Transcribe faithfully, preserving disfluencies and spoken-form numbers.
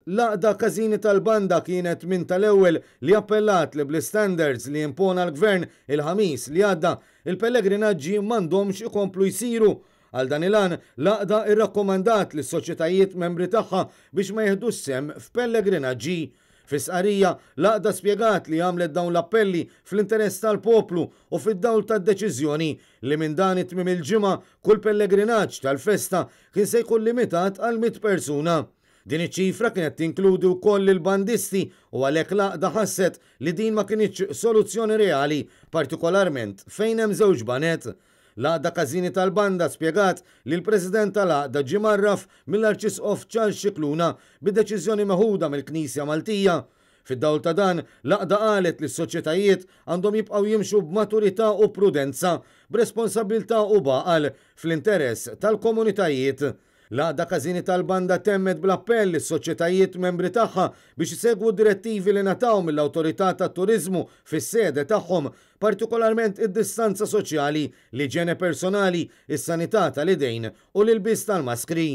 L-Għaqda Każini tal-Banda kienet minn tal-ewwel li appellat li bl-istandards li impona l-Gvern il-Ħamis li għadda, il-pellegrinaġġi m'għandhomx ikomplu jsiru. Għal dan il-għan, l-għaqda irrakkomandat lis-soċjetajiet membri tagħha biex ma jiħdux sehem f'pellegrinaġġi. Fi stqarrija, l-għaqda spjegat li għamlet dawn l-appelli fl-interess tal-poplu u fid-dawl tad-deċiżjoni li minn dan it-tmiem il-ġimgħa kull pellegrinaġġ tal-festa kien se jkun limitat għal mitt persuna. Din iċ-ċifra kienet tinkludi wkoll lill-bandisti u għalhekk l-għaqda ħasset li din ma kinitx soluzzjoni reali, partikolarment fejn hemm żewġ baned. L-Għaqda Każini tal-Banda spjegat li l-President tal-Għaqda ġie mgħarraf mill-Arċisqof Charles Scicluna bid-deċiżjoni meħuda mill-Knisja Maltija. Fid-dawl ta' dan, l-għaqda qalet li s-soċjetajiet għandhom jibqgħu jimxu b'maturità u prudenza, b'responsabbiltà u b'għaqal, fl-interess tal-komunitajiet. L-Għaqda Każini tal-Banda temmet bl-appell lis-soċjetajiet membri tagħha biex isegwu d-direttivi li ngħataw mill-Awtorità tat-Turiżmu fis-sede tagħhom, partikolarment id-distanza soċjali, l-iġene personali, is-sanità tal-idejn u l-ilbies tal-maskri.